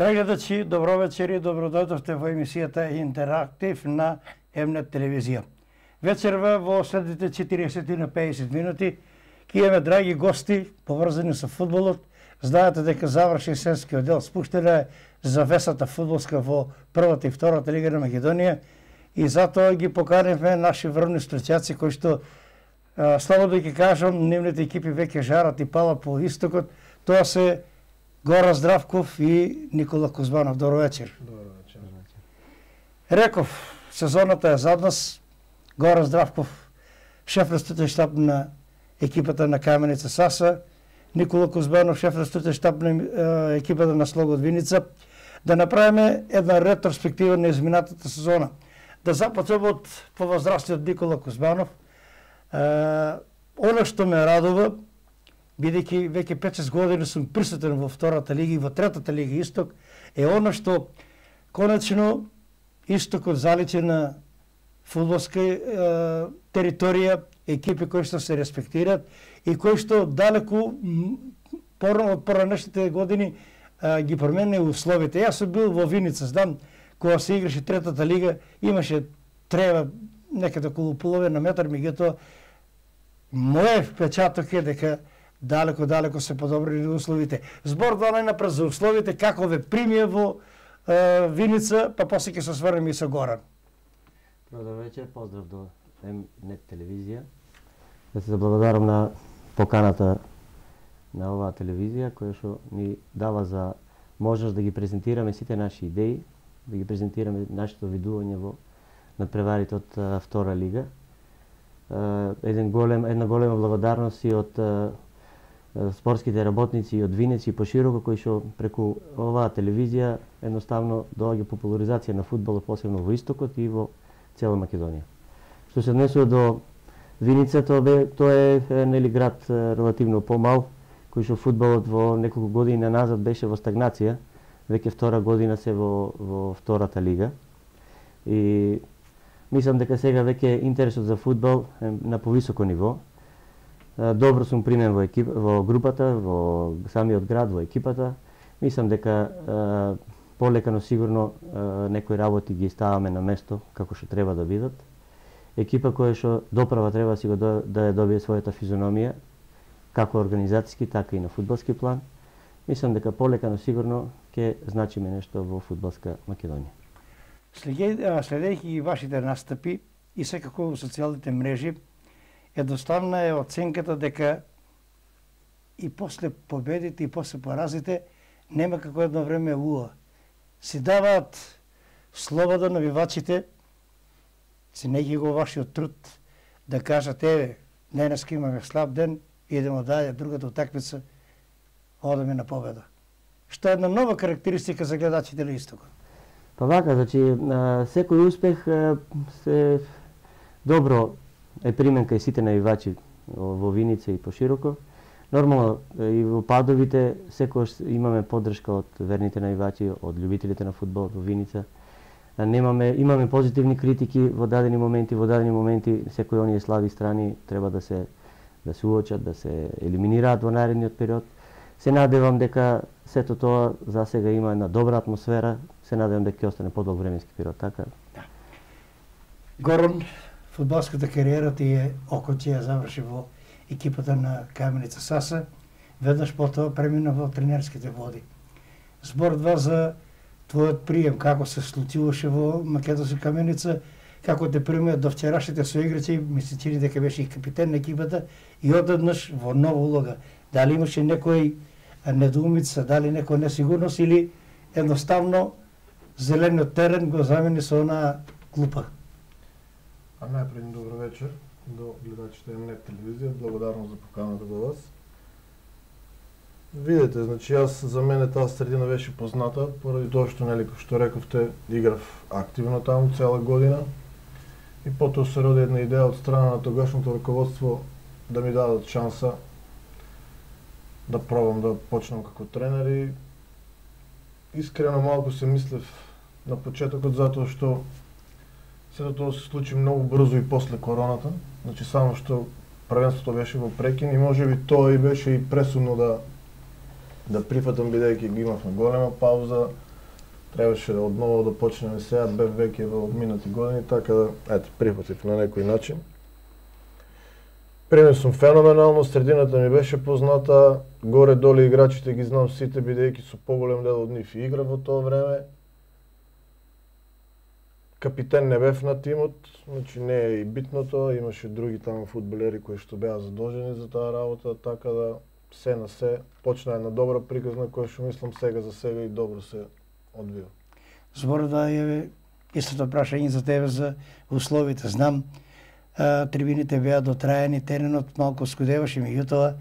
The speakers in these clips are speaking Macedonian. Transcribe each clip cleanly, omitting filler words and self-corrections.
Драги гледачи, добро вечер и добродојдовте во емисијата Интерактив на М-нет телевизија. Вечерва во следните 40 на 50 минути ќе имаме драги гости поврзани со фудбалот. Знаете дека заврши сенскиот дел, спуштена е завесата фудбалска во првата и втората лига на Македонија и затоа ги поканивме наши врвни стручјаци кои што слободно ќе кажам, нивните екипи веќе жарат и палат по истокот. Тоа се Гоran Здравков и Никола Кузманов. Добро вечер. Добро вечер. Реков, сезоната е зад нас. Горан Здравков, шеф на структурен штаб на екипата на Каменица Саса, Никола Кузманов, шеф на структурен штаб на екипата на Слогод Виница. Да направиме една ретроспектива на изминатата сезона. Да започнем од повозрастниот Никола Кузманов. Оно што ме радува, бидејќи веќе 5-6 години сум присутен во втората лига и во третата лига Исток, е оно што конечно Истокот заличи на фудбалска територија, екипи кои што се респектираат и кои што далеку од поранешните години ги промени условите. Јас сум бил во Виница, знам, кога се играше третата лига, имаше трева некаде околу половина метар, меѓутоа моје впечаток е дека далеко се подобрили условите. Збор да најнапред за условите, како ве примија во Виница, па после ќе се сврнеме и со Горан. Добро вечер, поздрав до М-нет телевизија. Да се заблагодарам на поканата на оваа телевизија, која што ни дава за можност да ги презентираме сите наши идеи, да ги презентираме нашето видување во надпреварите од втора лига. Една голема благодарност и од спортските работници и од Винеца и пошироко, кои што преку оваа телевизија едноставно доаѓа популаризација на фудбалот, посебно во Истокот и во цела Македонија. Што се однесува до Виница, тоа е нели град релативно помал, кој што фудбалот во неколку години назад беше во стагнација, веќе втора година се во втората лига. И мислам дека сега веќе интересот за фудбал е на повисоко ниво. Добро сум примен во групата, во самиот град, во екипата. Мислам дека полека, но сигурно некои работи ги ставаме на место како што треба да бидат. Екипа која што доправа треба да ја добие својата физиономија, како организацијски, така и на фудбалски план. Мислам дека полека, но сигурно ќе значиме нешто во фудбалска Македонија. Следејќи ги вашите настапи и секако во социјалните мрежи, едноставна е оценката дека и после победите и после поразите нема како едно време луа. Си даваат слобода навивачите, си неги го вашиот труд да кажат еве, денеска имаме слаб ден, идемо дале, другата утакмица одеме на победа. Што е една нова карактеристика за гледачите на Истокот. Па вака, значи секој успех се добро е примен кај сите навивачи во Виница и пошироко. Нормално и во падовите секогаш имаме поддршка од верните навивачи, од љубителите на фудбал во Виница. Имаме позитивни критики во дадени моменти секои оние слаби страни треба да се уочат, да се елиминираат во наредниот период. Се надевам дека сето тоа за сега има една добра атмосфера, се надевам дека ќе остане подолг временски период, така? Да. Горан, фудбалската кариера ти е околчија заврши во екипата на Каменица Саса, веднаш потоа премина во тренерските води. Збор два за твојот прием, како се случуваше во Македонска Каменица, како те примеат до вчерашните соиграчи, ми се чини дека беше и капитен на екипата и одеднаш во нова улога. Дали имаше некој недоумица, дали некоја несигурност или едноставно зелениот терен го замени со онаа клупа? Најпред добро вечер до гледачите на М-нет телевизија, благодарност за поканата до вас. Видете, значи јас за мене таа средина беше позната, поради тоа што нели што рековте, играв активно таму цела година и потоа се роди една идеја од страна на тогашното раководство да ми дадат шанса да пробам да почнам како тренер и искрено малку се мислев на почетокот затоа што сето тоа се случи многу брзо и после короната, значи само што првенството беше во прекин и можеби тоа и беше и пресудно да прифатам бидејќи ги имавме голема пауза, требаше одново да почнеме сега, бев веќе во минати години, така да, ето, прифатив на некој начин. Пример сум феноменално, средината ми беше позната, горе-доле играчите ги знам сите, бидејќи со поголем дел од нив игра во тоа време. Капитен не бев на тимот, значи не е и битното, имаше други таму фудбалери кои што беа задолжени за таа работа, така да се на се почна една добра приказна која што мислам сега за сега и добро се одвива. Збор да е истото прашање за тебе за условите. Знам, трибините беа дотраени, теренот малку скудеваше, меѓутоа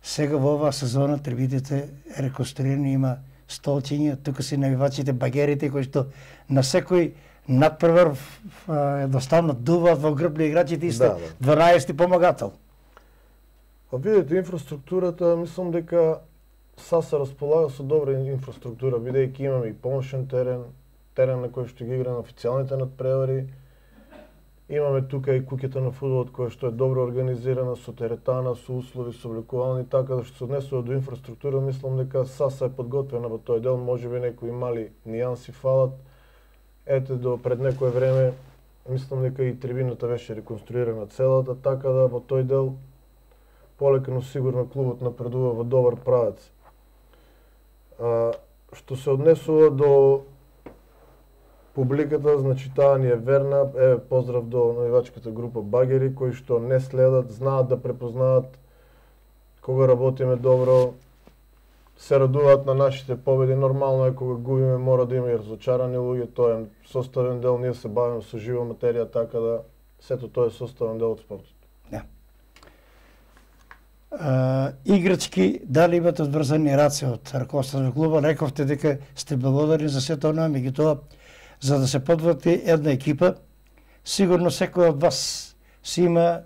сега во оваа сезона трибините реконструирани, има столчиња, тука си навивачите, багерите кои што на секој надпревар едноставно дуваат во грб на играчите и сте 12-ти помагател. Па видите, инфраструктурата, мислам дека СА се располага со добра инфраструктура, бидејќи имаме и помошен терен, терен на кој што ги игра на официјалните надпревари. Имаме тука и куќата на фудбалот која што е добро организирана, со теретана, со услови, со облекувални, така да што се однесува до инфраструктура, мислам дека СА е подготвена во тој дел, можеби некои мали нијанси фалат. Ете, до пред некое време, мислам дека и трибината беше реконструирана целата, така да во тој дел полека, но сигурно клубот напредува во добар правец. Што се однесува до публиката, значи таа ни е верна, поздрав до навивачката група Багери, кои што не следат, знаат да препознаат кога работиме добро, се радуваат на нашите победи. Нормално е кога губиме, мора да има и разочарани луѓе, тоа е составен дел, ние се бавиме со жива материја, така да сето тоа е составен дел од спортот. Да. Играчки, дали имате одврзани раце од раковството на клуба? Рековте дека сте благодарни за сето она, меѓутоа за да се подвати една екипа, сигурно секој од вас си има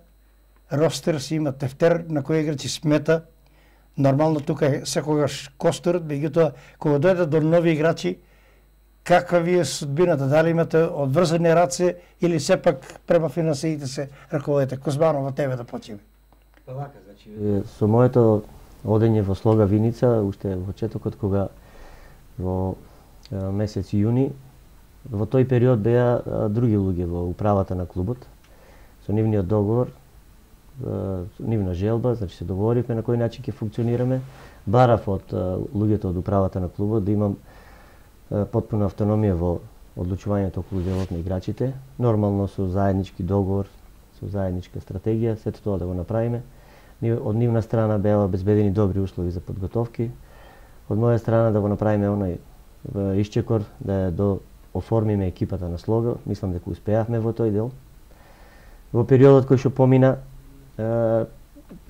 ростер, си има тефтер на кој играчи смета. Нормално тука е секогаш косторот, меѓутоа кога дојде до нови играчи, каква ви е судбината? Дали имате одврзани раце или сепак према финансиите се раководите? Кузмано, во тебе да почиме. Со моето одење во Слога Виница, уште во четокот кога во месец јуни, во тој период беа други луѓе во управата на клубот. Со нивниот договор, нивна желба, значи се договоривме на кој начин ќе функционираме. Барав од луѓето од управата на клубот да имам потпуна автономија во одлучувањето околу делот на играчите, нормално со заеднички договор, со заедничка стратегија, сето тоа да го направиме. Од нивна страна беа обезбедени добри услови за подготовки. Од моја страна да го направиме онај исчекор, да до оформиме екипата на Слога, мислам дека успеавме во тој дел. Во периодот кој што помина,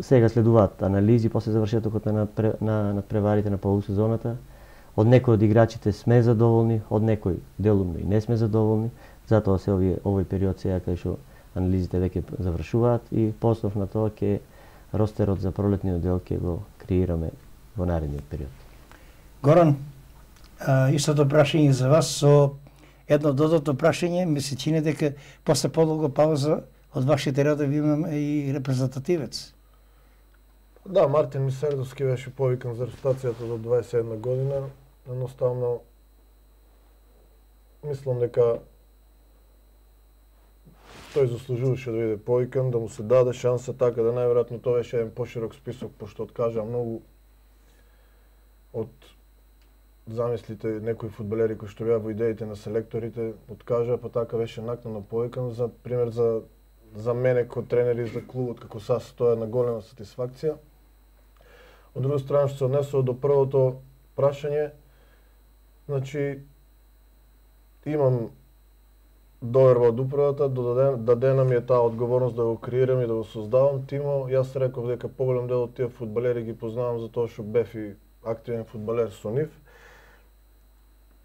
сега следуваат анализи после завршетокот на надпреварите на полусезоната. Од некои од играчите сме задоволни, од некои делумно и не сме задоволни. Затоа се овој период сега кај што анализите веќе завршуваат и по основ на тоа ќе ростерот за пролетниот дел ќе го креираме во наредниот период. Горан, истото прашање за вас со едно додатно прашање, ми се чини дека после подолга пауза од вашите редови имаме и репрезентативец. Да, Мартин Мисердовски беше повикан за ротацијата до 21 година. Едноставно, мислам дека тој заслужуваше да биде повикан, да му се даде шанса, така да најверојатно тоа беше еден поширок список, пошто откажа многу од замислите некои фудбалери кои што беа во идеите на селекторите, откажа, па така беше накнано повикан. За пример за мене како тренер и за клубот како САС, тоа е една голема сатисфакција. Од друга страна, што се однесува до првото прашање, значи имам доверба од управата, дадена ми е таа одговорност да го креирам и да го создавам тимо. Јас реков дека поголем дел од тие фудбалери ги познавам затоа што бев и активен фудбалер со нив.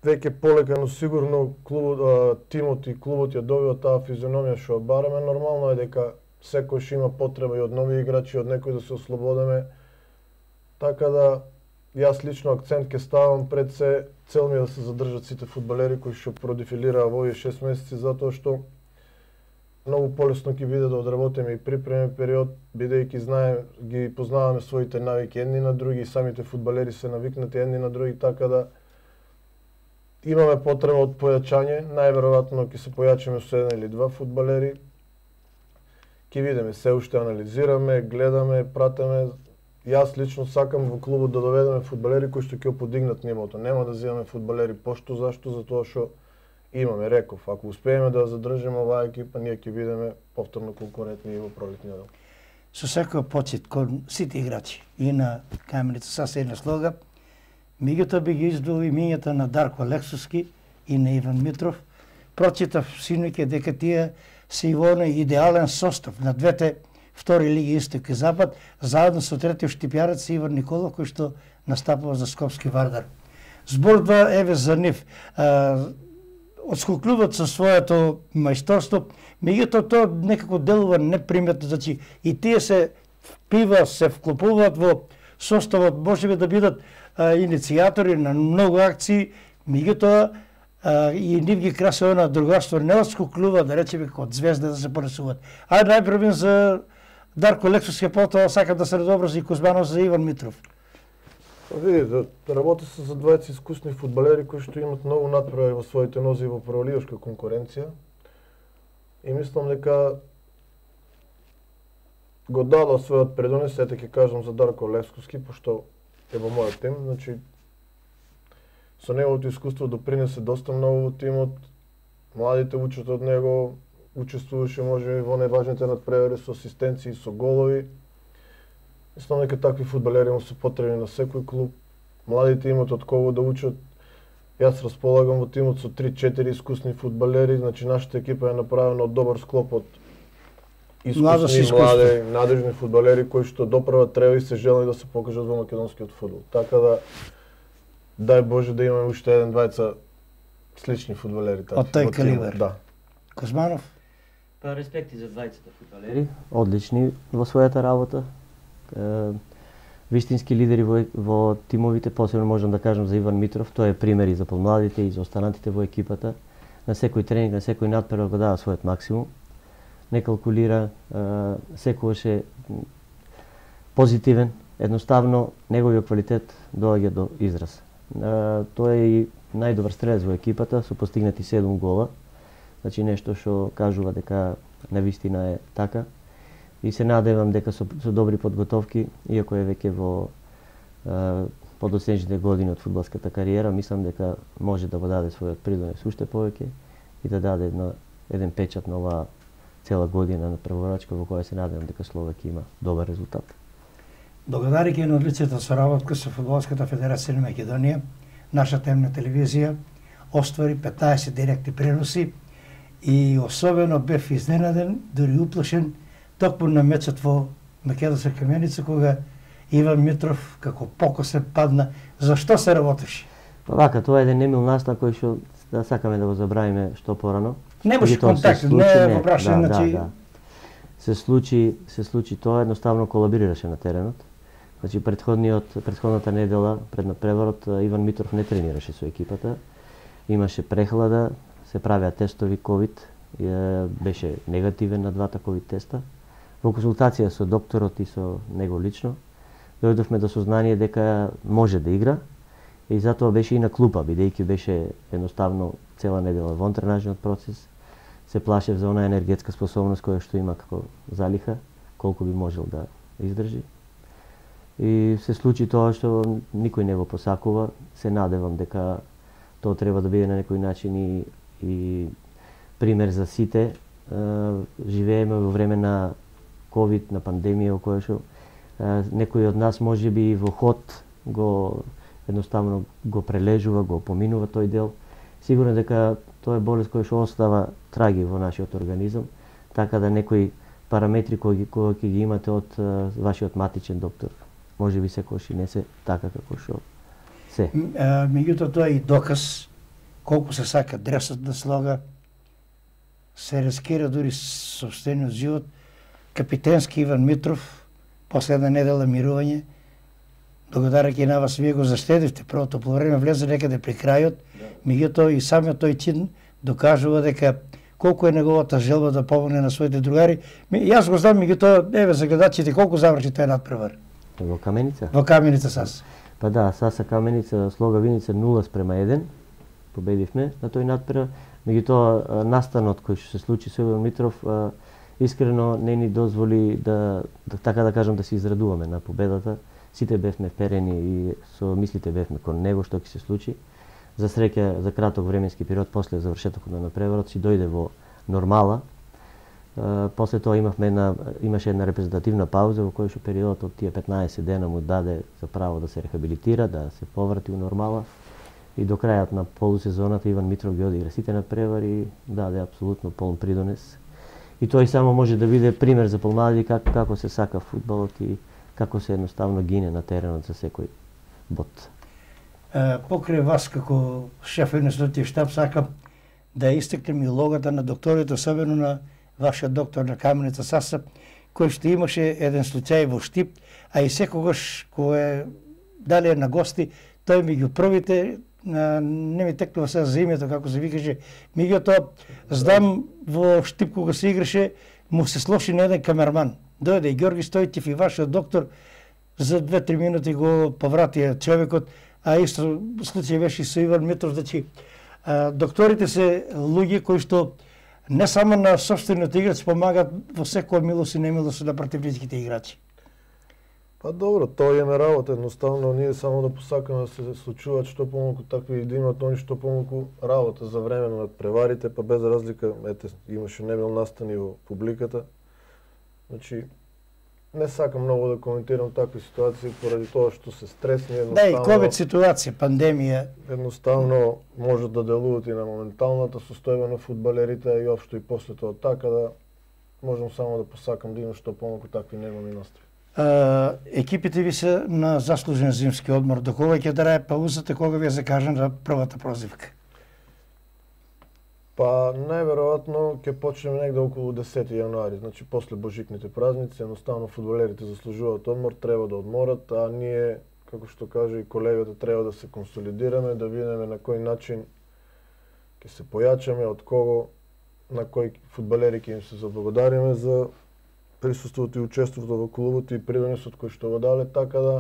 Веќе полека, но сигурно тимот и клубот ја добива таа физиономија што ја бараме. Нормално е дека секојаш има потреба и од нови играчи, од некој да се ослободиме. Така да, јас лично акцент ќе ставам пред се, цел ми е да се задржат сите фудбалери кои што продефилираа во овие 6 месеци, затоа што многу полесно ќе биде да одработиме и припремен период, бидејќи ги познаваме своите навики едни на други, самите фудбалери се навикнати едни на други, така да имаме потреба од појачање, најверојатно ќе се појачиме со 1 или 2 фудбалери. Ќе видиме, се уште анализираме, гледаме, пратиме. Јас лично сакам во клубот да доведеме фудбалери кои што ќе подигнат нивото. Нема да земаме фудбалери пошто, зашто? Затоа што имаме, реков, ако успееме да задржиме оваа екипа, ние ќе бидеме повторно конкурентни во пролетниот дел. Со секој почит кон сите играчи и на Каменица саса и на Слога, меѓутоа би ги издвоил имињата на Дарко Лексовски и на Иван Митров. Прочитав синоќа дека тие се и во оној идеален состав на двете втори лиги Исток и Запад, заедно со третиот штипјарец Иван Николов, кој што настапува за Скопски Вардар. Зборува еве за нив. Отскокнуваат со своето мајсторство, меѓутоа тоа некако делува неприметно, значи и тие се вклопуваат во составот, можеби да бидат иницијатори на многу акции, меѓутоа и нив ги краси она другарство, не отскокнува, да речеме, како од звезда да се понесуваат. Ајде најпрвен за Дарко Лексовски, потоа сакам да се разобрази и Кузманов за Иван Митров. Видите, работи се за двајца искусни фудбалери кои што имат многу натпревари во своите нози во прволигашка конкуренција. И мислам дека го дадо својот предонес, ете ќе кажам за Дарко Лексовски, пошто е во мојот тим, значи со неговото искуство допринесе доста многу во тимот. Младите учат од него, учествуваше можеби во најважните натпревари со асистенции, со голови. Мислам дека такви фудбалери му се потребни на секој клуб. Младите имат од кого да учат. Јас располагам во тимот со 3-4 искусни фудбалери, значи нашата екипа е направена од добар склоп од искусни, млади, надежни фудбалери кои што допрва треба и се желани да се покажат во македонскиот фудбал. Така да дај Боже да имаме уште еден двајца слични фудбалери такви. Од тој калибар. Да. Кузманов? Па респекти за двајцата фудбалери, одлични во својата работа. Вистински лидери во тимовите, посебно можам да кажам за Иван Митров, тој е пример и за помладите и за останатите во екипата. На секој тренинг, на секој надпревар го дава својот максимум. Не калкулира, секогаш е позитивен, едноставно неговиот квалитет доаѓа до израз. Тој е и најдобар стрелец во екипата со постигнати 7 гола. Значи нешто што кажува дека навистина е така. И се надевам дека со добри подготовки, иако е веќе во подоцнежните години од фудбалската кариера, мислам дека може да го даде својот придонес уште повеќе и да даде еден печат на оваа цела година на прворачка во која се надевам дека Словакија има добар резултат. Благодарики на одличната соработка со Фудбалската федерација на Македонија, нашата емна телевизија оствари 15 директни преноси и особено бев изненаден, дури уплашен, токму на мечот во Македонска Каменица, кога Иван Митров како покосен падна. Зашто се работеше? Вака, тоа е еден немил настан кој што да сакаме да го забравиме што порано. Немаше контакт, не го прашање, значи... Се случи тоа, едноставно колабирираше на теренот. Значи претходната недела пред надпреварот Иван Митров не тренираше со екипата. Имаше прехлада, се правеа тестови ковид, беше негативен на двата ковид теста. Во консултација со докторот и со него лично, дојдовме до сознание дека може да игра и затоа беше и на клупа, бидејќи беше едноставно цела недела во тренажниот процес. Се плашев за онаа енергетска способност која што има како залиха, колку би можел да издржи. И се случи тоа што никој не го посакува. Се надевам дека тоа треба да биде на некој начин и пример за сите. Живееме во време на ковид, на пандемија, во која што некој од нас можеби во ход едноставно го прележува, го поминува тој дел. Сигурно дека тоа е болест која што остава траги во нашиот организам, така да некои параметри кои ќе ги имате од вашиот матичен доктор, можеби секогаш и не се така како што се. Меѓутоа тоа е и доказ колку се сака дресот да слога, се рискира дури собствениот живот. Капитенски Иван Митров, последна недела мирување, благодарајќи на вас, вие го заштедивте првото полувреме, влезе некаде при крајот, меѓутоа и самиот тој чин докажува дека колку е неговата желба да помогне на своите другари. Јас го знам, меѓутоа, еве за гледачите, колку заврши тој надпревар? Во Каменица? Во Каменица САС. Па да, САСа Каменица, Слога Виница 0:1. победивме на тој надпревар. Меѓутоа настанот кој што се случи со Иван Митров искрено не ни дозволи да така да кажам да се израдуваме на победата. Сите бевме вперени и со мислите бевме кон него што ќе се случи. За среќа за краток временски период после завршетокот на надпреварот си дојде во нормала. После тоа имаше една репрезентативна пауза во која што периодот од тие 15 дена му даде за право да се рехабилитира, да се поврати у нормала. И до крајот на полусезоната Иван Митров ги одигра сите надпревари и даде апсолутно полн придонес. И тој само може да биде пример за помлади како се сака фудбалот и како се едноставно гине на теренот за секој бот. Покрај вас како шеф на националниот штаб сакам да истакнем и улогата на докторите, особено на вашиот доктор на Каменица Саса, кој што имаше еден случај во Штип, а и секогаш кој дали на гости, тој меѓу првите, не ми текнува сега за името како се викаше, меѓутоа знам во Штип кога се играше, му се слоши на еден камерман. Дојде и Ѓорги Стојчев и вашиот доктор, за 2-3 минути го повратија човекот, а исто случај беше и со Иван Митров, значи докторите се луѓе кои што не само на собствениот играч помагат во секоја милост и немилост на противничките играчи. Па добро, тоа е на работа, едноставно ние само да посакаме да се случуваат што помалку такви да имаат они што помалку работа за време на надпреварите, па без разлика, ете, имаше немил настани во публиката. Значи, не сакам многу да коментирам такви ситуации поради тоа што се стресни едноставно. Да, и ковид ситуација, пандемија. Едноставно можат да делуваат и на моменталната состојба на фудбалерите и општо и после тоа, така да можам само да посакам да има што помалку такви немилни настрои. Екипите ви се на заслужен зимски одмор. До кога ќе трае паузата, кога ви е закажана првата прозивка? Па најверојатно ќе почнеме негде околу 10 јануари, значи после божикните празници, едноставно фудбалерите заслужуваат одмор, треба да одморат, а ние, како што каже и колегата, треба да се консолидираме, да видиме на кој начин ќе се појачаме, од кого, на кои фудбалери ќе им се заблагодариме за присуството и учеството во клубот и придонесот кој што го дале, така да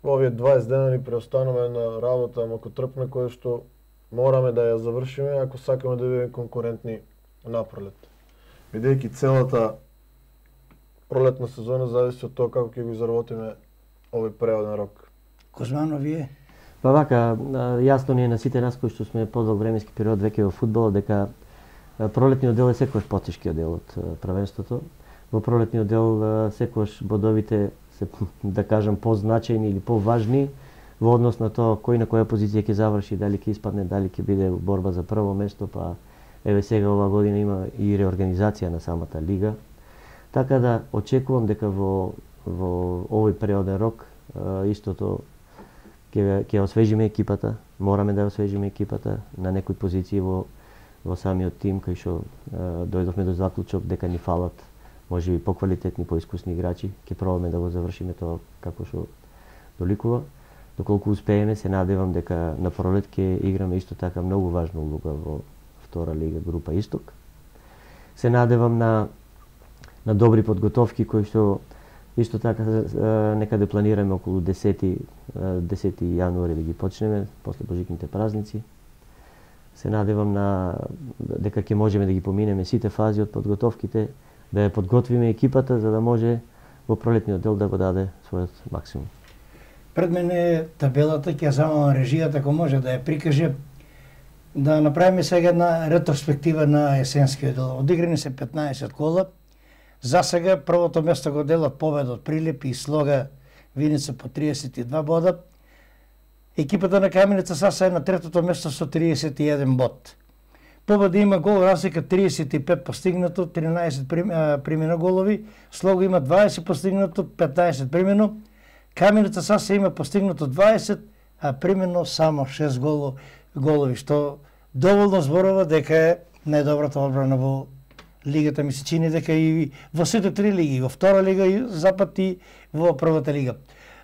во овие 20 дена ни преостанува една работа макотрпна која што мораме да ја завршиме ако сакаме да бидеме конкурентни напролет. Бидејќи целата пролетна сезона зависи од тоа како ќе го изработиме овој преоден рок. Кузмано, вие? Па вака, јасно ни е на сите нас кои што сме подолг временски период веќе во фудбалот дека пролетниот дел е секогаш потешкиот дел од првенството. Во пролетниот дел секогаш бодовите се, да кажам, позначајни или поважни во однос на тоа кој на која позиција ќе заврши, дали ќе испадне, дали ќе биде борба за прво место, па еве сега оваа година има и реорганизација на самата лига. Така да очекувам дека во овој периоден рок истото ќе освежиме екипата, мораме да освежиме екипата на некои позиции во самиот тим кај што дојдовме до заклучок дека ни фалат можеби поквалитетни, поискусни играчи. Ќе пробаме да го завршиме тоа како што доликува. Доколку успееме, се надевам дека на пролет ќе играме исто така многу важна улога во втора лига група Исток. Се надевам на добри подготовки кои што исто така некаде планираме околу 10 јануари да ги почнеме после божикните празници. Се надевам дека ќе можеме да ги поминеме сите фази од подготовките, да ја подготвиме екипата за да може во пролетниот дел да го даде својот максимум. Пред мене табелата, ќе замолам режијата ако може да ја прикаже, да направиме сега една ретроспектива на есенскиот дел. Одиграни се 15 кола. За сега првото место го делат победа од Прилеп и Слога Виница по 32 бода. Екипата на Каменица Саса е на третото место со 31 бод. Победа има гол разлика 35 постигнато, 13 примено голови. Слога има 20 постигнато, 15 примено. Каменица Саса има постигнато 20, а примено само 6 голови, што доволно зборува дека е најдобрата одбрана во лигата. Ми се чини дека и во сите три лиги, во втора лига и запад и во првата лига.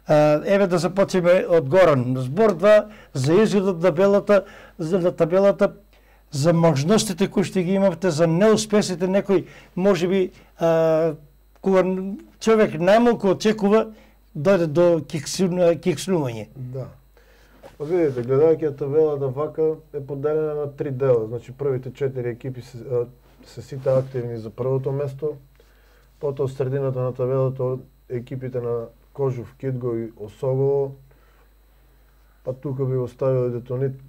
Еве да започнеме од Горан. Збор 2 за изгледот на табелата, за можностите кои што ги имавте, за неуспесите некој, можеби кога човек најмалку очекува дојде до кикснување. Да. Видите, гледајќи табелата вака е поделена на 3 дела. Значи првите 4 екипи се сите активни за првото место. Потоа средината на табелата екипите на Кожув, Кидго и Осогово. Па тука би оставил и Детонит.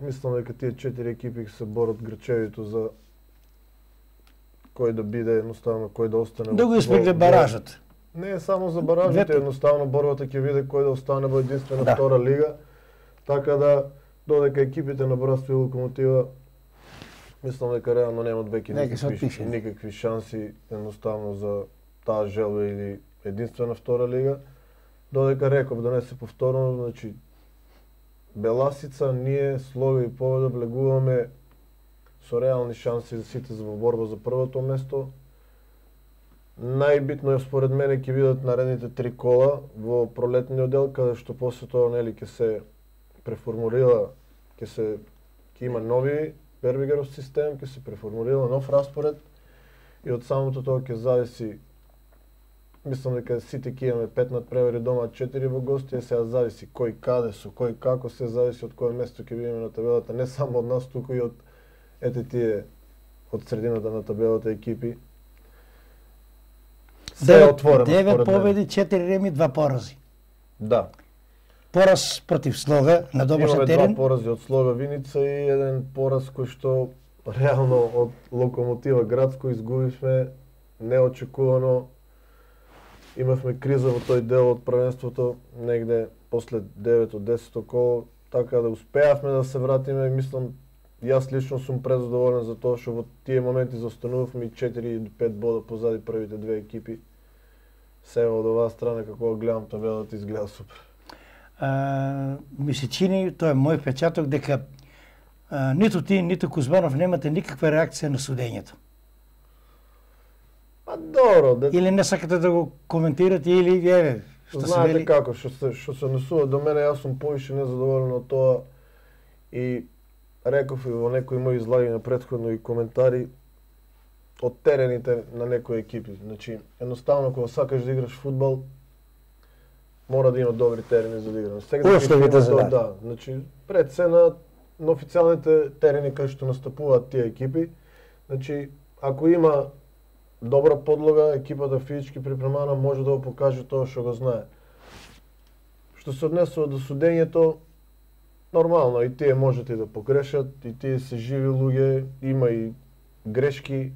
Мислам дека тие 4 екипи се борат грчевито за кој да биде едноставно, кој да остане. Да го испегле баражот. Не е само за баражите, едноставно борбата ќе биде кој да остане во единствена втора лига. Така да додека екипите на Братство и Локомотива мислам дека реално немат веќе никакви шанси едноставно за таа желба или единствена втора лига. Додека реков да не се повторно, значи Беласица, ние, Слога и Поведа влегуваме со реални шанси за сите за борба за првото место. Најбитно е според мене ќе бидат наредните 3 кола во пролетниот дел, каде што после тоа нели ќе се преформулира, ќе има нови Бербигеров систем, ќе се преформулира нов распоред и од самото тоа ќе зависи. Мислам дека сите ќе имаме 5 надпревари дома, 4 во гости, сега зависи кој каде, со кој како, се зависи од кое место ќе бидеме на табелата, не само од нас, туку и од тие од средината на табелата екипи. Се е отворено. 9 победи, 4 реми, 2 порази. Да. Пораз против Слога на домашен терен. Имаме 2 порази од Слога Виница и еден пораз кој што реално од Локомотива Градско изгубивме неочекувано. Имавме криза во тој дел од првенството, негде после 9-10 коло, така да успеавме да се вратиме и мислам, јас лично сум презадоволен за тоа што во тие моменти заостанувавме и 4 до 5 бода позади првите 2 екипи. Сега од оваа страна како гледам табелата изгледа супер. Ми се чини, тоа е мој впечаток, дека ниту ти, ниту Кузманов немате никаква реакција на судењето. Па добро, или не сакате да го коментирате или еве што се вели. Знаете како, што се однесува до мене, јас сум повише незадоволен од тоа и реков и во некои мои излагања претходно и коментари од терените на некои екипи. Значи, едноставно кога сакаш да играш фудбал, мора да има добри терени за да играш. Условите за да. Значи, пред се на официјалните терени кај што настапуваат тие екипи, значи, ако има добра подлога, екипата физички припремана може да го покаже тоа што го знае. Што се однесува до судењето, нормално, и тие можете да погрешат, и тие се живи луѓе, има и грешки.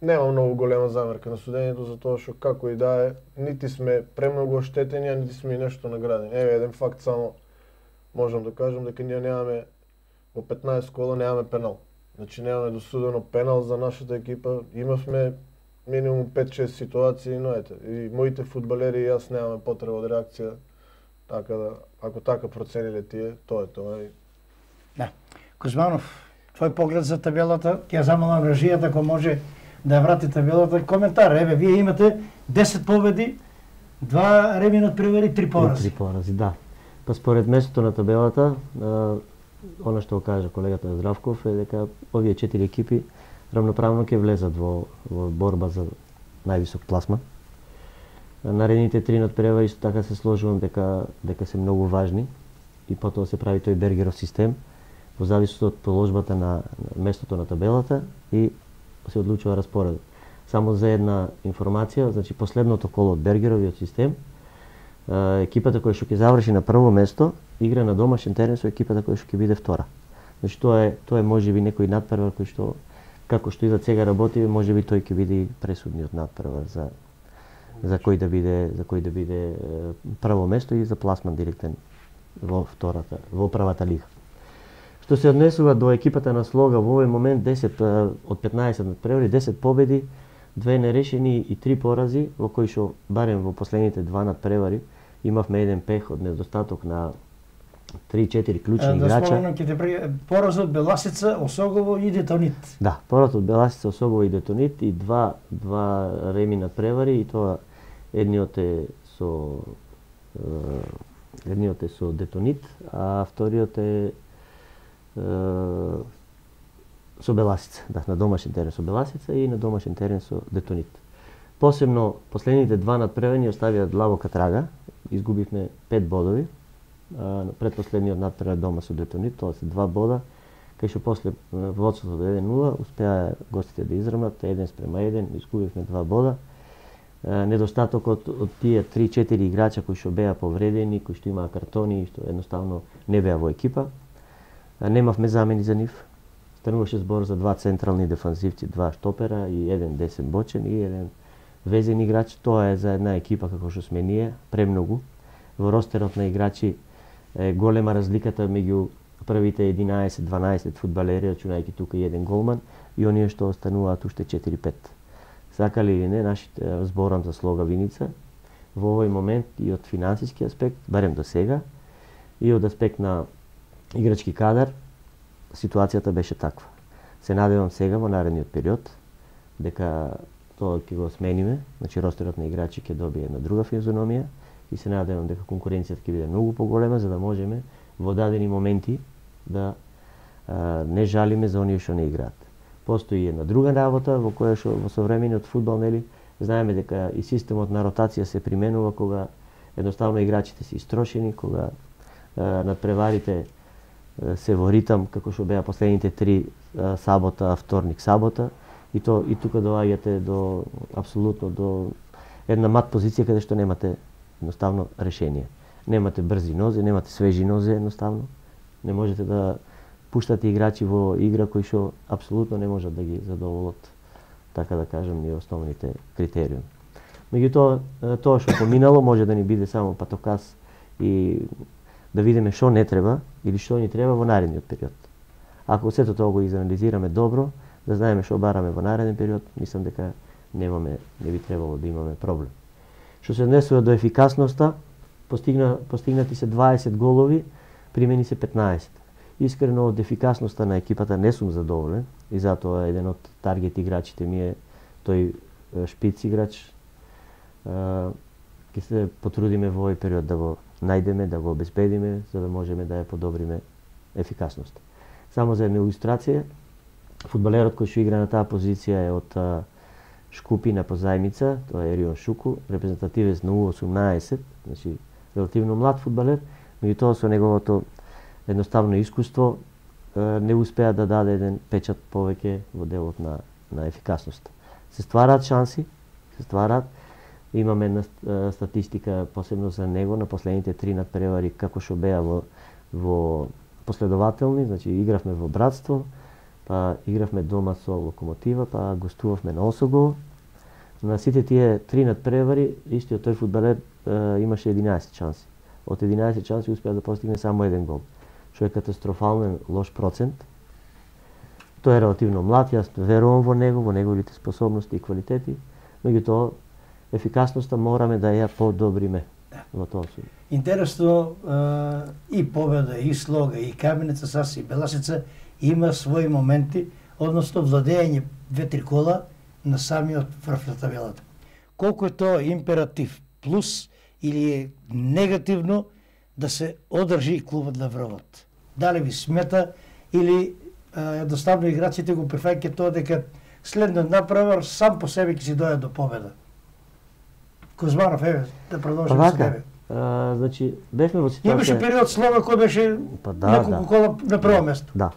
Нема многу голема замерка на судењето, затоа што како и да е, нити сме премногу оштетени, а нити сме и нешто наградени. Еве еден факт само можам да кажам дека ние немаме во 15 кола немаме пенал. Значи немаме досудено пенал за нашата екипа. Имавме минимум 5-6 ситуации, но ете, и моите фудбалери и јас немаме потреба од реакција. Така да, ако така процениле тие, тоа е тоа. Да. Кузманов, твој поглед за табелата, ќе замолам режијата ако може да врати табелата. Коментар, еве, вие имате 10 победи, 2 реми надпревари, 3 порази. 3 порази, да. Па според местото на табелата, она што го кажа колегата Здравков е дека овие 4 екипи равноправно ќе влезат во борба за највисок пласман. Наредните 3 надпревари исто така се сложувам дека се многу важни и потоа се прави тој Бергеров систем во зависност од положбата на местото на табелата и се одлучува распоредот. Само за една информација, значи последното коло од Бергеровиот систем, екипата која што ќе заврши на прво место игра на домашен терен со екипата која што ќе биде втора. Значи тоа е можеби некој надпревар кој што како што и за сега работи, можеби тој ќе биде пресудниот надпревар за кој да биде прво место и за пласман директен во првата лига. Што се однесува до екипата на Слога, во овој момент 10 од 15 надпревари, 10 победи, 2 нерешени и 3 порази, во кои што барем во последните 2 надпревари имавме еден пех од недостаток на 3-4 клучни играча. Да спомнам ќе те поразот Беласица, Осогово и Детонит. Да, поразот Беласица, Осогово и Детонит и два реми надпревари и тоа едниот е со Детонит, а вториот е со Беласица, да, на домашен терен со Беласица и на домашен терен со Детонит. Посебно последните 2 надпревари оставија длабока трага, изгубивме 5 бодови предпоследниот надпревар дома со Детонит, тоа се 2 бода, кај што после водството до 1-0 успеа гостите да израмнат 1-1, изгубивме 2 бода. Недостатокот од тие 3-4 играча кои што беа повредени, кои што имаа картони и што едноставно не беа во екипа. Немавме замени за нив. Стануваше збор за 2 централни дефанзивци, 2 штопера и 1 десен бочен и 1 везен играч. Тоа е за една екипа како што сме ние, премногу. Во ростерот на играчи е голема разликата меѓу првите 11-12 фудбалери, рачунајќи тука и 1 голман, и оние што остануваат уште 4-5. Сакали или не, нашите зборам за слога Виница, во овој момент и од финансиски аспект, барем до сега, и од аспект на играчки кадар, ситуацијата беше таква. Се надевам сега во наредниот период дека тоа ќе го смениме, значи ростерот на играчи ќе добие една друга физиономија и се надевам дека конкуренцијата ќе биде многу поголема за да можеме во дадени моменти да не жалиме за оние што не играат. Постои една друга работа во која што во современиот фудбал, нели, знаеме дека и системот на ротација се применува кога едноставно играчите се истрошени, кога надпреварите се во ритам како што беа последните 3 сабота, вторник, сабота, и тука доаѓате до апсолутно до една мат позиција каде што немате едноставно решение. Немате брзи нозе, немате свежи нозе едноставно. Не можете да пуштате играчи во игра кои што апсолутно не можат да ги задоволат, така да кажем, и основните критериуми. Меѓутоа, тоа што поминало може да ни биде само патоказ и да видиме што не треба или што ни треба во наредниот период. Ако сето тоа го изанализираме добро, да знаеме што бараме во нареден период, мислам дека не би требало да имаме проблем. Што се однесува до ефикасноста, постигнати се 20 голови, примени се 15. Искрено од ефикасноста на екипата не сум задоволен и затоа еден од таргет играчите ми е тој шпиц играч. Ќе се потрудиме во овој период да го најдеме, да го обезбедиме, за да можеме да ја подобриме ефикасноста. Само за една илустрација, фудбалерот кој што игра на таа позиција е од Шкупи на позајмица, тоа е Ерион Шуку, репрезентативец на U18, значи релативно млад фудбалер, меѓутоа со неговото едноставно искуство не успеа да даде еден печат повеќе во делот на ефикасноста. Се ствараат шанси, имаме една статистика посебно за него на последните 3 надпревари како што беа во последователни, значи игравме во Братство, па игравме дома со Локомотива, па гостувавме на Осогово. На сите тие 3 надпревари истиот тој фудбалер имаше 11 шанси. Од 11 шанси успеа да постигне само 1 гол, што е катастрофален лош процент. Тој е релативно млад, јас верувам во него, во неговите способности и квалитети, меѓутоа ефикасноста мораме да ја подобриме во тоа случај. Интересно, и Победа, и Слога, и Каменица, Сас и Беласица има своји моменти, односно владење 2-3 кола на самиот врв на табелата. Колку е тоа императив, плюс или е негативно да се одржи клубот на врвот? Дали ви смета или едноставно играчите го прифаќаат тоа дека следниот направар сам по себе ќе си дојде до победа? Кузманов, еве, да продолжиме со тебе. Значи, бевме во ситуација... Имаше период Слога кој беше неколку кола на прво место. Да.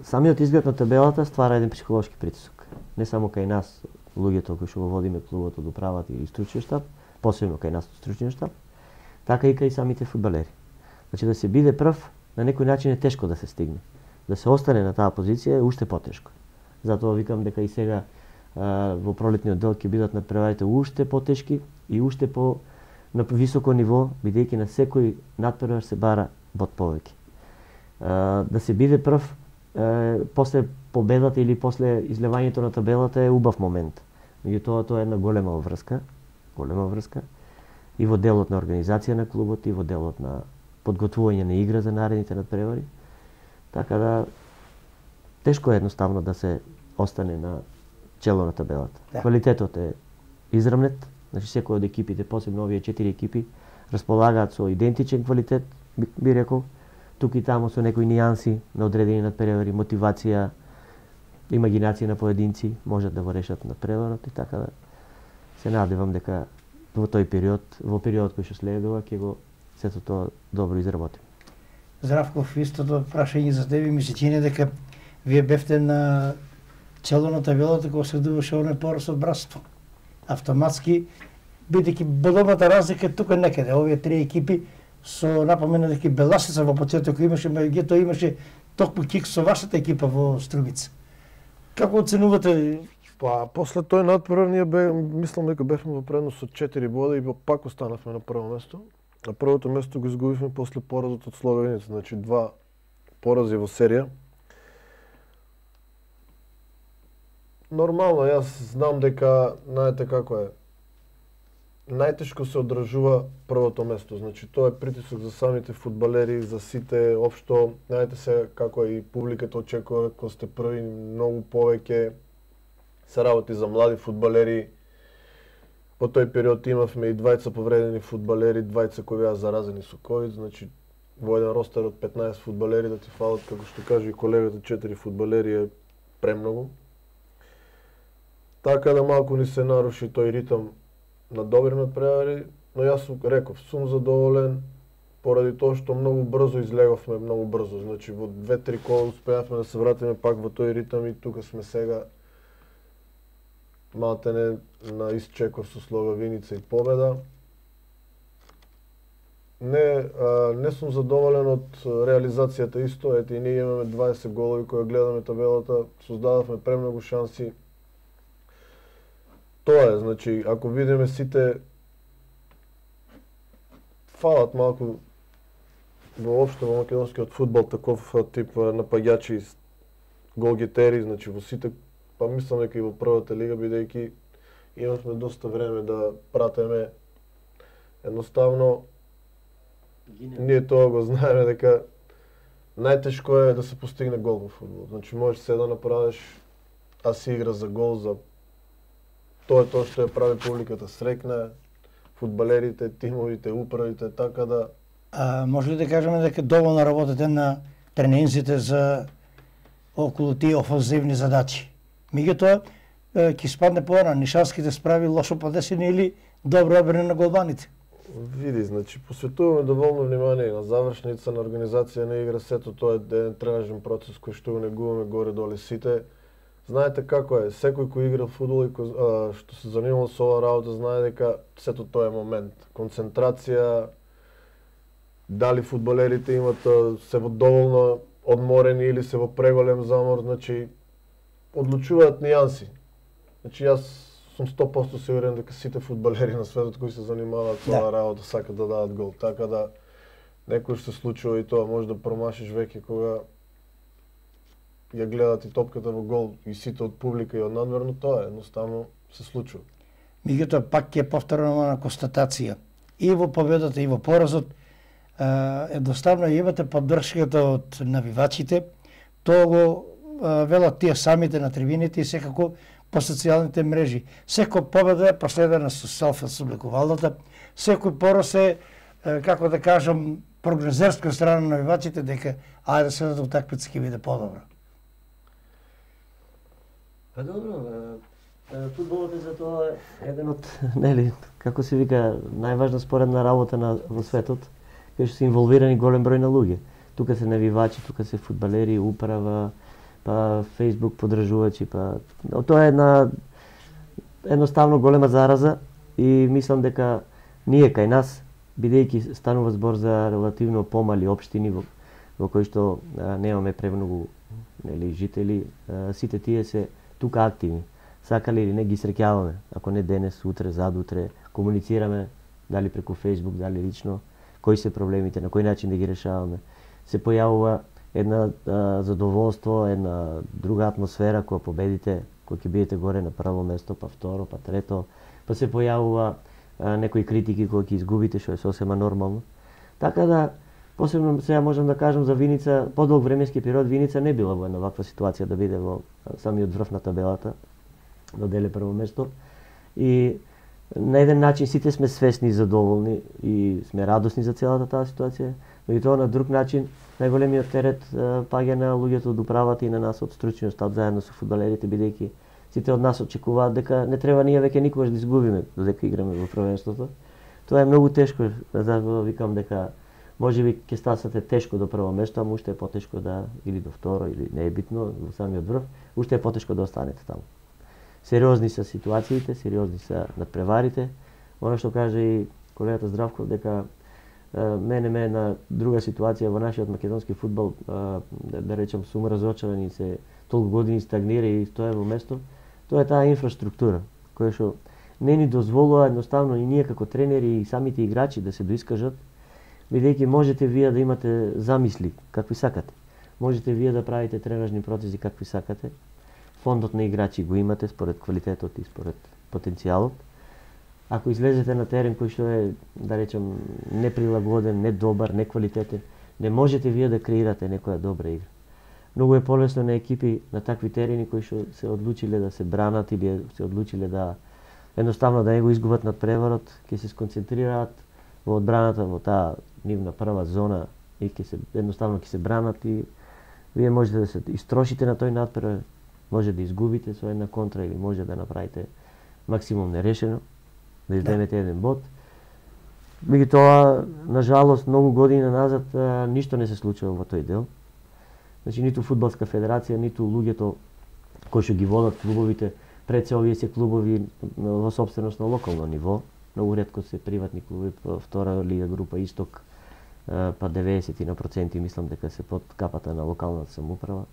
Самиот изглед на табелата ствара еден психолошки притисок. Не само кај нас, луѓето кои што го водиме клубот од управата и стручниот штаб, посебно кај нас од стручниот штаб, така и кај самите фудбалери. Значи, да се биде прв, на некој начин е тешко да се стигне. Да се остане на таа позиција е уште потешко. Затоа викам дека и сега во пролетниот дел ќе бидат надпреварите уште потешки и уште по на високо ниво, бидејќи на секој надпревар се бара бод повеќе. Да се биде прв после победата или после излевањето на табелата е убав момент. Меѓутоа тоа е една голема врска и во делот на организација на клубот и во делот на подготвување на игра за наредните надпревари. Така да тешко е едноставно да се остане на чело на табелата. Да. Квалитетот е израмнет, значи секој од екипите, посебно овие 4 екипи, располагаат со идентичен квалитет, би рекол, тук и таму со некои нијанси на одредени надпревари, мотивација, имагинација на поединци можат да го решат надпреварот и така да се надевам дека во тој период, во периодот кој што следува, ќе го сето тоа добро изработиме. Здравков, истото прашање за тебе, ми се чини дека вие бевте на чело на табелата кога се дуваше оној пораз од братство. Автоматски, бидејќи големата разлика е тука некаде, овие три екипи со напомена дека Беласица во почетокот имаше, меѓутоа имаше токму кик со вашата екипа во Струмица. Како оценувате? Па, после тој надпревар ние мислам дека бевме во предност од 4 бода и пак останавме на прво место. На првото место го изгубивме после поразот од Словеница, значи 2 порази во серија. Нормално, јас знам дека, знаете како е, најтешко се одржува првото место. Значи, тоа е притисок за самите фудбалери, за сите, општо, знаете се како е и публиката очекува кога сте први, многу повеќе се работи за млади фудбалери. По тој период имавме и 2 повредени фудбалери, 2 кои беа заразени со ковид, значи во еден ростер од 15 фудбалери да ти фалат, како што каже и колегата, 4 фудбалери е премногу. Така да малку ни се наруши тој ритам на добри надпревари, но јас реков, сум задоволен поради тоа што многу брзо излеговме, многу брзо. Значи во 2-3 кола успеавме да се вратиме пак во тој ритам и тука сме сега малтене на исчекор со Словеница и победа. Не сум задоволен од реализацијата исто, ете и ние имаме 20 голови кои гледаме табелата, создадавме премногу шанси. Тоа е, значи, ако видиме сите фалат малку воопшто во македонскиот фудбал таков тип напаѓачи, голгетери, значи во сите, па мислам дека и во првата лига, бидејќи имавме доста време да пратеме. Едноставно, ние тоа го знаеме дека најтешко е да се постигне гол во фудбал. Значи можеш се да направиш, а си игра за гол, за тоа е тоа што ја прави публиката срекна, фудбалерите, тимовите, управите, така да... Може ли да кажеме дека доволно работите на тренинзите за околу тие офанзивни задачи? Меѓутоа, ќе спадне поана, Нишанските справи лошо подесени или добро одбрана на голманите? Види, значи, посветуваме доволно внимание на завршница, на организација на игра, сето тоа е еден тренажен процес кој што го негуваме горе-доле сите. Знаете како е, секој кој игра фудбал и што се занимава со оваа работа знае дека сето тоа е момент. Концентрација, дали фудбалерите имат се во доволно одморени или се во преголем замор, значи одлучуваат нијанси. Значи јас сум 100% сигурен дека сите фудбалери на светот кои се занимаваат со оваа работа сакат да дадат гол, така да некој се случува и тоа, може да промашиш веќе кога ја гледат и топката во гол и сите од публика и од надворно, тоа едноставно се случува. Меѓутоа пак ќе повторам на констатација. И во победата и во поразот едноставно имате поддршката од навивачите. Тоа го велат тие самите на трибините и секако по социјалните мрежи. Секој победа е последена со селфи со облекувалната. Секој пораз е, како да кажам, прогнозерска страна на навивачите дека ајде следната утакмица ќе биде подобра. Па добро, фудбалот е за тоа еден од, нели, како се вика, најважна споредна работа во светот, кај што се инволвирани голем број на луѓе. Тука се навивачи, тука се фудбалери, управа, па Facebook подржувачи, па тоа е едноставно голема зараза и мислам дека ние кај нас, бидејќи станува збор за релативно помали општини во кои што немаме премногу, нели, жители, сите тие се тука активни. Сакали или не ги среќаваме, ако не денес, утре, задутре, комуницираме дали преку Facebook, дали лично, кои се проблемите, на кој начин да ги решаваме. Се појавува една задоволство, една друга атмосфера кога победите, кога ќе бидете горе на прво место, па второ, па трето, па се појавува некои критики кога ќе изгубите, што е сосема нормално. Така да, посебно сега можам да кажам за Виница, подолг временски период Виница не била во една ваква ситуација да биде во самиот врв на табелата, да деле прво место. И на еден начин сите сме свесни и задоволни и сме радосни за целата таа ситуација, но и тоа на друг начин најголемиот терет паѓа на луѓето од управата и на нас од стручниот штаб заедно со фудбалерите, бидејќи сите од нас очекуваат дека не треба ние веќе никогаш да изгубиме додека играме во првенството. Тоа е многу тешко, затоа викам дека можеби ќе стасате тешко до прво место, ама уште е потешко да или до второ или не е битно, во самиот врв, уште е потешко да останете таму. Сериозни се ситуациите, сериозни се надпреварите. Она што каже и колегата Здравко дека мене ме на друга ситуација во нашиот македонски фудбал, да речем сум разочаран и се толку години стагнира и стоја во место. Тоа е таа инфраструктура која што не ни дозволува едноставно и ние како тренери и самите играчи да се доискажат, бидејќи можете вие да имате замисли какви сакате. Можете вие да правите тренажни процеси какви сакате. Фондот на играчи го имате според квалитетот и според потенцијалот. Ако излезете на терен кој што е, да речем, неприлагоден, недобар, неквалитетен, не можете вие да креирате некоја добра игра. Многу е полесно на екипи на такви терени кои што се одлучиле да се бранат или се одлучиле да едноставно да не го изгубат надпреварот, ќе се сконцентрираат во одбраната во таа нивна прва зона и едноставно ќе се бранат и вие можете да се истрошите на тој надпревар, може да изгубите со една контра или може да направите максимум нерешено, да издемете еден бод. Меѓутоа, на жалост, многу години назад ништо не се случува во тој дел. Значи, ниту фудбалска федерација, ниту луѓето кои што ги водат клубовите, пред се овие се клубови во собственост на локално ниво. Многу ретко се приватни клубови, втора лига група Исток, па 90% мислам дека се под капата на локалната самоуправа.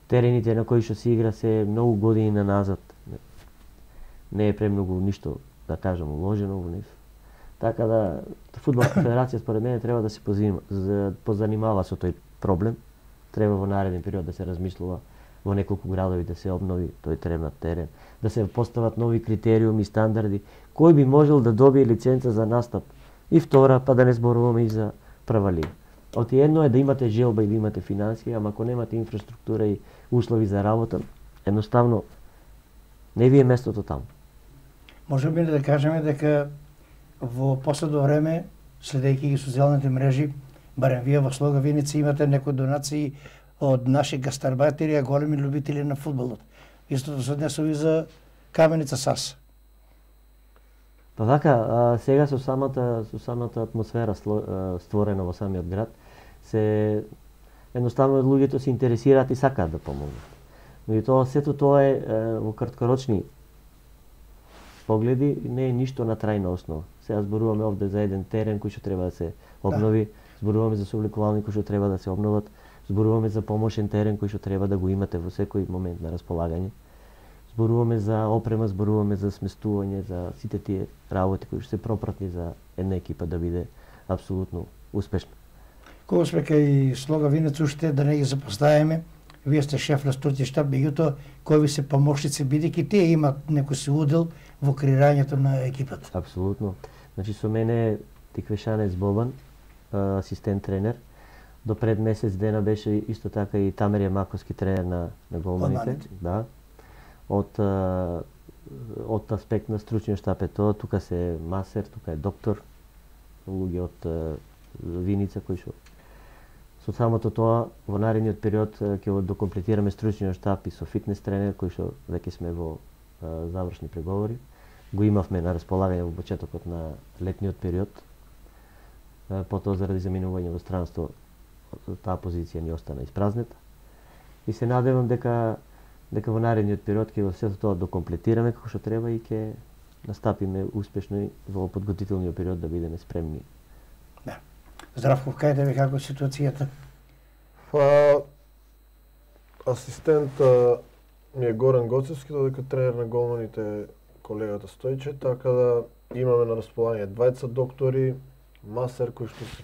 Терените на кои што се игра се многу години назад. Не е премногу ништо, да кажам, уложено во нив. Така да, фудбалска федерација според мене треба да се позанимава со тој проблем. Треба во нареден период да се размислува во неколку градови да се обнови тој тренат терен, да се постават нови критериуми и стандарди, кој би можел да добие лиценца за настап и втора, па да не зборуваме и за прва лига. Оти едно е да имате желба и да имате финансии, ама ако немате инфраструктура и услови за работа, едноставно не ви е местото таму. Може би да кажеме дека во последно време, следејќи ги социјалните мрежи, барем вие во Слога Виница имате некои донации од наши гастарбајтери, а големи любители на фудбалот. Истото се однесува и за Каменица САС. Па така, сега со самата атмосфера створена во самиот град, се едноставно луѓето се интересираат и сакаат да помогнат. Меѓутоа сето тоа е во краткорочни погледи, не е ништо на трајна основа. Сега зборуваме овде за еден терен кој што треба да се обнови, зборуваме за собликувални кои што треба да се обноват, зборуваме за помошен терен кој што треба да го имате во секој момент на располагање. Зборуваме за опрема, зборуваме за сместување, за сите тие работи кои што се пропратни за една екипа да биде апсолутно успешна. Кога сме кај Слога Винец, уште да не ги запоставиме, вие сте шеф на стручен штаб, меѓутоа кои ви се помошници, бидејќи тие имат некој си удел во креирањето на екипата. Апсолутно. Значи со мене е Тиквешанец Бобан, асистент тренер. До пред месец дена беше исто така и Тамерија Маковски тренер на голманите. Да. Од аспект на стручен штаб е тоа, тука се масер, тука е доктор, луѓе од Виница кои што со самото тоа во наредниот период ќе го докомплетираме стручниот штаб и со фитнес тренер кој што веќе сме во завршни преговори. Го имавме на располагање во почетокот на летниот период. Потоа заради заминување во странство таа позиција ни остана испразнета. И се надевам дека во наредниот период ќе сето тоа докомплетираме како што треба и ќе настапиме успешно и во подготвителниот период да бидеме спремни. Да. Здравко, кајде ви како ситуацијата? Па асистент ми е Горан Гоцевски, додека тренер на голманите колегата Стојче, така да имаме на располагање двајца доктори, масер кои што се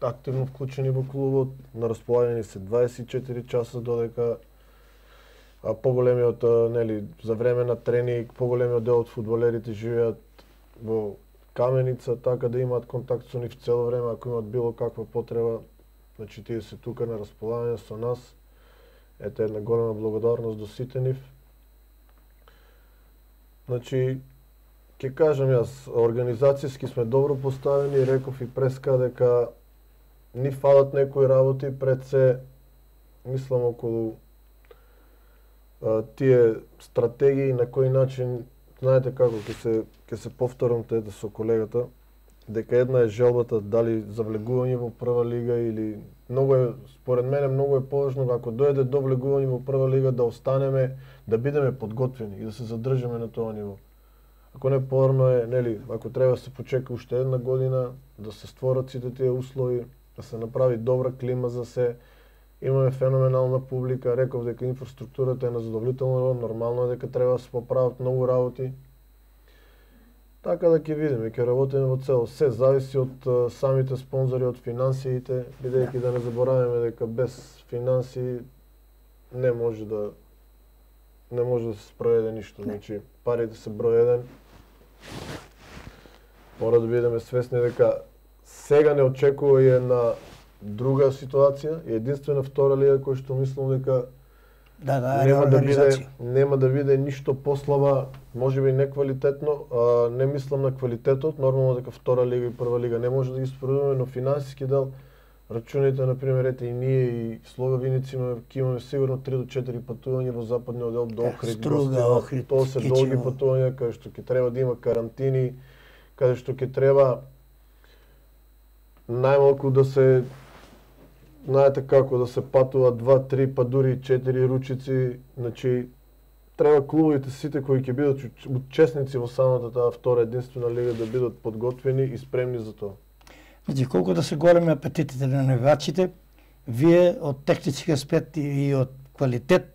активно вклучени во клубот, на располагање се 24 часа додека поголемиот за време на тренинг, поголемиот дел од фудбалерите живеат во Каменица, така да имаат контакт со нив цело време, ако имаат било каква потреба, значи тие се тука на располагање со нас. Ете една голема благодарност до сите нив. Значи, ќе кажам јас, организацијски сме добро поставени, реков и преска дека ни фалат некои работи, пред се мислам околу тие стратегии на кој начин, знаете како ќе се повторам тета со колегата, дека една е желбата дали за влегување во прва лига или многу е, според мене многу е поважно ако дојде до влегување во прва лига да останеме, да бидеме подготвени и да се задржиме на тоа ниво. Ако не порано е, нели, ако треба да се почека уште една година, да се створат сите тие услови, да се направи добра клима за се. Имаме феноменална публика, реков дека инфраструктурата е на задоволително, нормално е дека треба да се поправат многу работи. Така да ќе видиме, ќе работиме во цело. Се зависи од самите спонзори, од финансиите, бидејќи да не забораваме дека без финансии не може да се спроведе ништо. Значи, парите се број еден. Мора да бидеме свесни дека сега не очекува и една друга ситуација, и единствена втора лига која што мислам дека нема да биде ништо послаба, можеби неквалитетно, не мислам на квалитетот, нормално дека втора лига и прва лига не може да ги споредуваме, но финансиски дел рачуните, например, ете и ние и Слога Виница имаме сигурно 3 до 4 патувања во западниот дел до Охрид. Тоа се долги патувања каде што ќе треба да има карантини, каде што ќе треба најмалку да се, знаете како, да се патува 2, 3, па дури 4 ручици, значи треба клубовите сите кои ќе бидат учесници во самата таа втора единствена лига да бидат подготвени и спремни за тоа. Значи, колку да се големи апетитите на навивачите, вие од технички аспект и од квалитет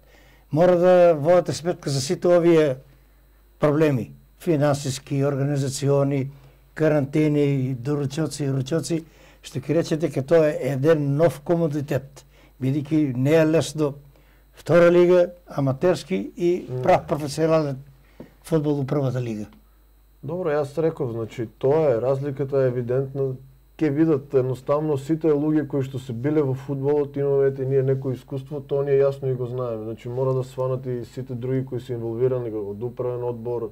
мора да водите сметка за сите овие проблеми, финансиски, организациони, карантини, доручоци и ручоци, што ќе речете дека тоа е еден нов комодитет, бидејќи не е лесно втора лига, аматерски и прав професионален фудбал во првата лига. Добро, јас реков, значи тоа е, разликата е евидентна. Ке видат едноставно сите луѓе кои што се биле во фудбалот, имаме ние некој искуство, тоа ние јасно и го знаеме. Значи мора да сванат и сите други кои се инволвирани од управен одбор,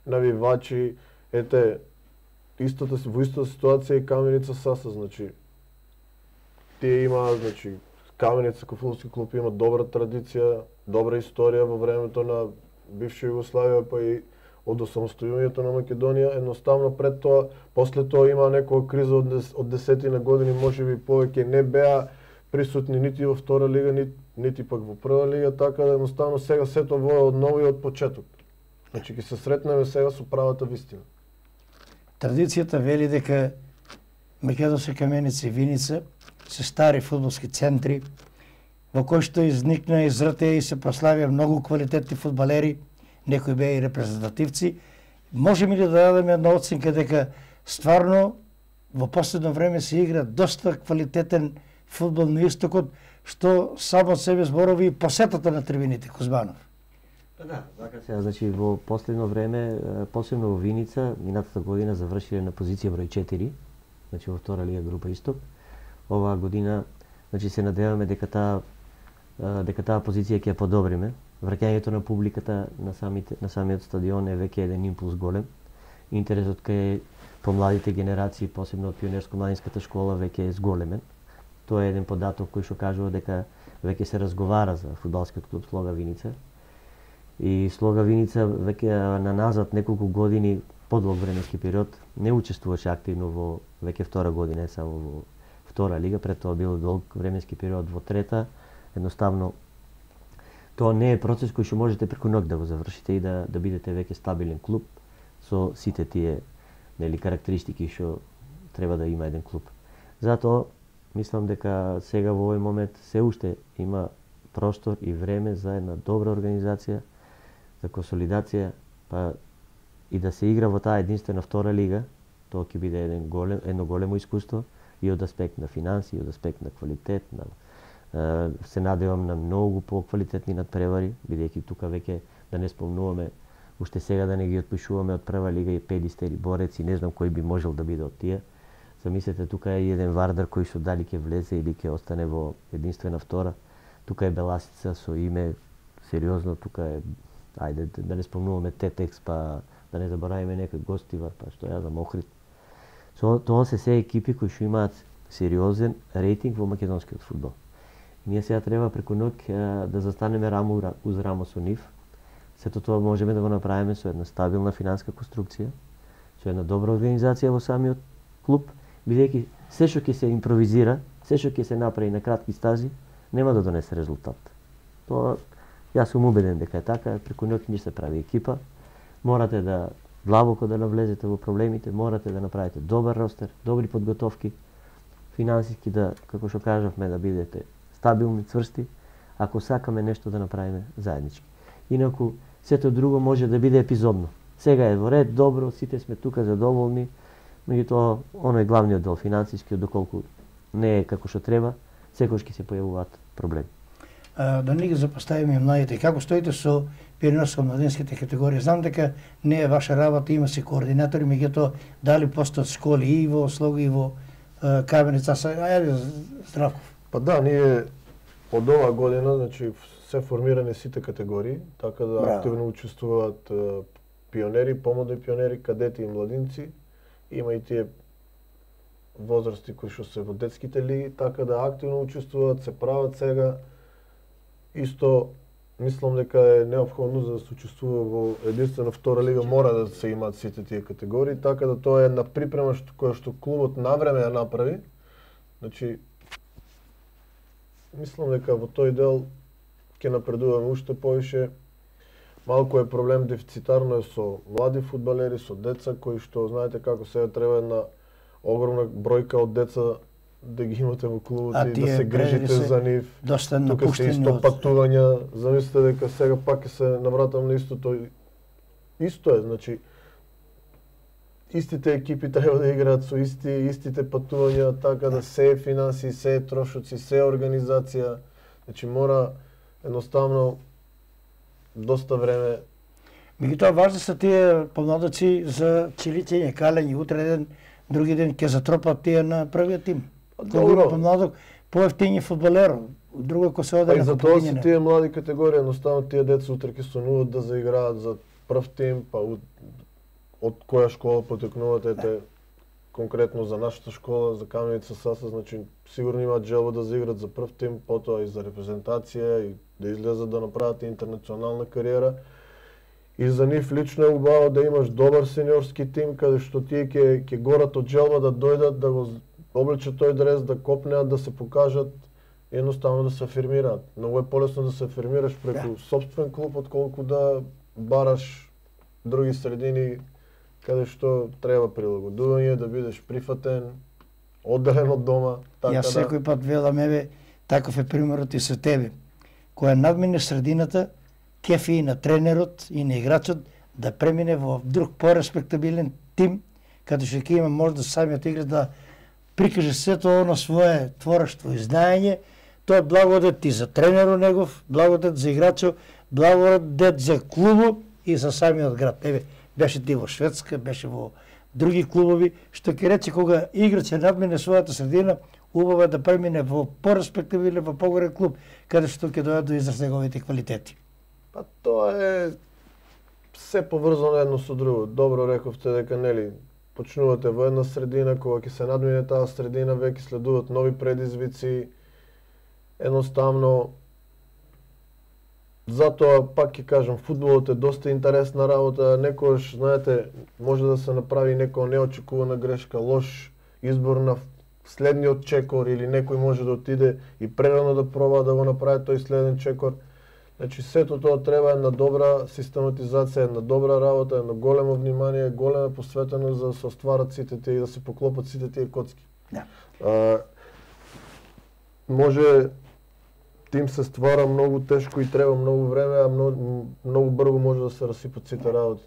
навивачи, ете во истата ситуација и Каменица Саса, значи тие имаат, значи Каменица како фудбалски клуб има добра традиција, добра историја во времето на бивша Југославија, па и од осамостојувањето на Македонија, едноставно пред тоа, после тоа има некоја криза од десетина години, можеби повеќе не беа присутни нити во втора лига, нити пак во прва лига, така да едноставно сега сето воја од ново и од почеток. Значи ќе се сретнеме сега со правата вистина. Традицијата вели дека Македонска Каменица и Виница се стари фудбалски центри во кои што изникна, израте и се прославија многу квалитетни фудбалери, некои беа и репрезентативци. Можеме ли да дадеме една оценка дека стварно во последно време се игра доста квалитетен фудбал на истокот, што само себе зборови и посетата на трибините, Кузманов? Да, така се, значи во последно време, посебно во Виница, минатата година завршиле на позиција број 4, значи во втора лига група Исток. Оваа година, значи се надеваме дека таа позиција ќе ја подобриме. Враќањето на публиката на самиот стадион е веќе еден импулс голем. Интересот кај помладите генерации, посебно од пионерско-младинската школа, веќе е зголемен. Тоа е еден податок кој што кажува дека веќе се разговара за фудбалскиот клуб Слога Виница. И Слога Виница веќе наназад неколку години, подолг временски период, не учествуваше активно во веќе втора година, само во втора лига, пред тоа бил долг временски период во трета. Едноставно тоа не е процес кој што можете преку ноќ да го завршите и да бидете веќе стабилен клуб со сите тие карактеристики што треба да има еден клуб. Затоа мислам дека сега во овој момент се уште има простор и време за една добра организација, за консолидација, па и да се игра во таа единствена втора лига. Тоа ќе биде едно големо искуство и од аспект на финанси, и од аспект на квалитет, се надевам на многу поквалитетни надпревари, бидејќи тука веќе да не спомнуваме, уште сега да не ги отпишуваме од прва лига и Педистер и Борец и не знам кој би можел да биде од тие. Замислете, тука е еден Вардар кој што дали ќе влезе или ќе остане во единствена втора. Тука е Беласица со име сериозно, тука е, ајде да не спомнуваме Тетекс, па да не забораваме некој Гостивар, па што ја знам Охрид. Тоа се екипи кои што имаат сериозен рейтинг во македонскиот фудбал. Ние сега треба преку ноќ да застанеме рамо уз рамо со нив. Сето тоа можеме да го направиме со една стабилна финанска конструкција, со една добра организација во самиот клуб, бидејќи се што ќе се импровизира, се што ќе се направи на кратки стази, нема да донесе резултат. Тоа јас сум убеден дека е така, преку ноќ не се прави екипа. Морате да длабоко да навлезете во проблемите, морате да направите добар ростер, добри подготовки, финансиски да, како што кажавме, да бидете стабилни, цврсти, ако сакаме нешто да направиме заеднички. Инаку, сето друго може да биде епизодно. Сега е во ред, добро, сите сме тука задоволни, меѓутоа, оној главниот дел, финансискиот, доколку не е како што треба, секогаш ќе се појавуваат проблеми. Да не ги запоставиме младите, како стоите со перенос во младинските категории? Знам дека не е ваша работа, има се координатори, меѓутоа дали постојат школи и во Слога и во Каменица? Ајде, Здравков. Па да, ние од оваа година, значи се формирани сите категории, така да активно учествуваат пионери, помлади пионери, кадети и младинци. Има и тие возрасти кои што се во детските лиги, така да активно учествуваат, се прават сега. Исто мислам дека е неопходно за да се учествува во единствена втора лига, мора да се имаат сите тие категории, така да тоа е една припрема која што клубот навреме ја направи. Значи мислам дека во тој дел ќе напредуваме уште повише. Малку е проблем, дефицитарно е со млади фудбалери, со деца кои што знаете како сега треба една огромна бројка од деца да ги имате во клубот и да се грижите за нив. Тука се исто патувања, замислете дека сега пак ќе се навратам на истото. Исто е, значи истите екипи треба да играат со истите патувања, така да се е финанси, се е трошоци, се е организација. Значи мора едноставно доста време. Меѓутоа важни се тие помладоци за чиличење, калење, утре ден, други ден ќе затропат тие на првиот тим. Добро. Помладок, поевтињи фудбалер, друго ако се оде на за тоа се тие млади категории, едноставно тие деца утре ќе сонуваат да заиграат за прв тим, па од која школа потекнуваат, ете конкретно за нашата школа, за Каменица Саса, значи сигурно имаат желба да заиграат за прв тим, потоа и за репрезентација и да излезат да направат интернационална кариера. И за нив лично е убаво да имаш добар сениорски тим каде што тие ќе горат од желба да дојдат, да го облечат тој дрес, да копнеат, да се покажат, едноставно да се афирмираат. Многу е полесно да се афирмираш преку сопствен клуб отколку да бараш други средини каде што треба прилагодување, да бидеш прифатен, одделен од дома. Така јас секој пат велам, еве, таков е примерот и со тебе. Која надмине средината, кефи и на тренерот и на играчот да премине во друг пореспектабилен тим, каде што ќе има можда самиот играч да прикаже сето оно свое творештво и знаење. Тоа е благодет и за тренерот негов, благодет за играчот, благодет за клубот и за самиот град. Еве, беше ти во Шведска, беше во други клубови, што ќе рече кога играч надмине својата средина, убаво е да премине во пореспектабилен, во погорен клуб, каде што ќе дојдат до израз неговите квалитети. Па тоа е се поврзано едно со друго. Добро рековте дека нели почнувате во една средина, кога ќе се надмине таа средина, веќе следуваат нови предизвици. Едноставно затоа пак ќе кажам, фудбалот е доста интересна работа. Некогаш, знаете, може да се направи некоја неочекувана грешка, лош избор на следниот чекор или некој може да отиде и прерано да проба да го направи тој следен чекор. Значи сето тоа треба една добра систематизација, една добра работа, едно големо внимание, голема посветеност за да се остварат сите тие и да се поклопат сите тие коцки. Да. Може тим се ствара многу тешко и треба многу време, а многу брзо може да се расипат сите работи.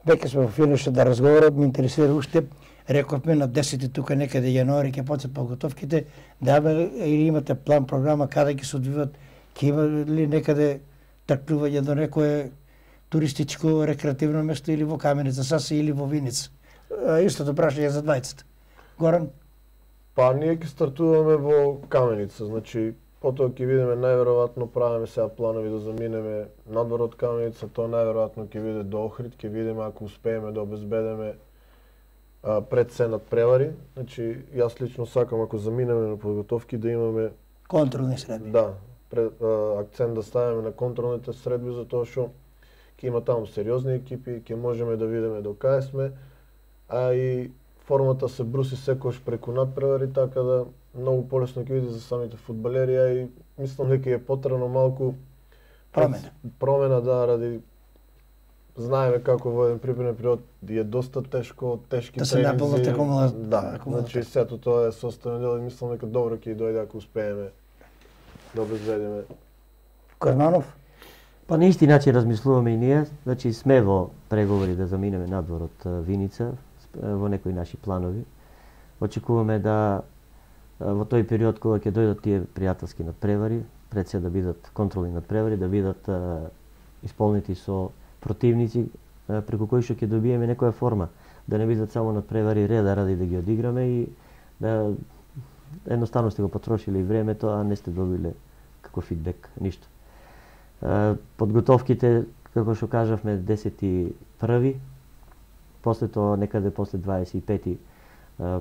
Веќе сме во финишот да разговарат, ме интересира уште, рековме на 10 тука некаде јануари ќе почнат подготовките, да или имате план, програма каде ќе се одвиват, ќе има ли некаде тркнување до некое туристичко рекреативно место или во Каменица Саса или во Виница? Истото прашање за двајцата. Горан? Па ние ќе стартуваме во Каменица, значи потоа ќе видиме, најверојатно правиме сега планови да заминеме надвор од Каменица, тоа најверојатно ќе биде до Охрид, ќе видиме ако успееме да обезбедиме пред се надпревари. Значи јас лично сакам ако заминеме на подготовки да имаме контролни средби. Да, акцент да ставиме на контролните средби, затоа што ќе има таму сериозни екипи, ќе можеме да видиме до кај сме, а и формата се бруси секогаш преку надпревари, така да многу полесно ќе биде за самите фудбалери, а и мислам дека е потребно малку промена ради знаеме како во еден припреден период е доста тешко, тешки да тренинзи. Да, значи сето тоа е составен дел и мислам дека добро ќе дојде ако успееме да обезвредиме. Карманов? Па на исти начин размислуваме и ние, значи сме во преговори да заминеме надвор од Виница во некои наши планови. Очекуваме да во тој период кога ќе дојдат тие пријателски надпревари, пред се да бидат контролни надпревари, да бидат исполнети со противници преку кои што ќе добиеме некоја форма, да не бидат само надпревари реда ради да ги одиграме и да едноставно сте го потрошиле и времето, а не сте добиле како фидбек, ништо. Подготовките, како што кажавме, 10.1, после тоа некаде после 25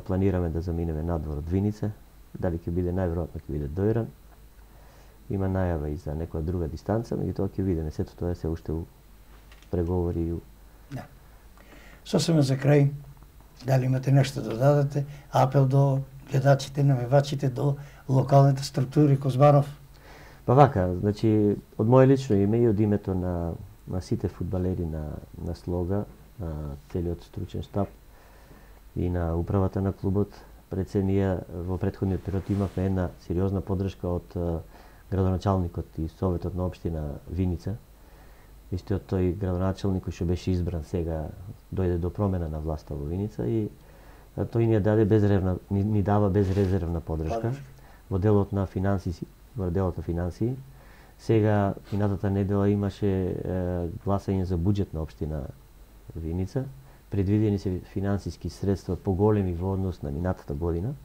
планираме да заминеме надвор од Виница, дали ќе биде најверојатно ќе биде Дојран. Има најава и за некоја друга дистанца, меѓутоа ќе видиме, сето тоа е се уште у преговори и Да. Сосема за крај, дали имате нешто да дадете, апел до гледачите, навивачите, до локалните структури Козбанов? Па вака, значи од моје лично име и од името на сите фудбалери на Слога, на целиот стручен штаб и на управата на клубот, пред се ние во претходниот период имавме една сериозна поддршка од градоначалникот и советот на општина Виница. Истиот тој градоначалник кој што беше избран сега дојде до промена на власта во Виница и тој ни дава безрезервна поддршка во делот на финансии. Сега минатата недела имаше гласање за буџет на општина Виница. Предвидени се финансиски средства поголеми во однос на минатата година,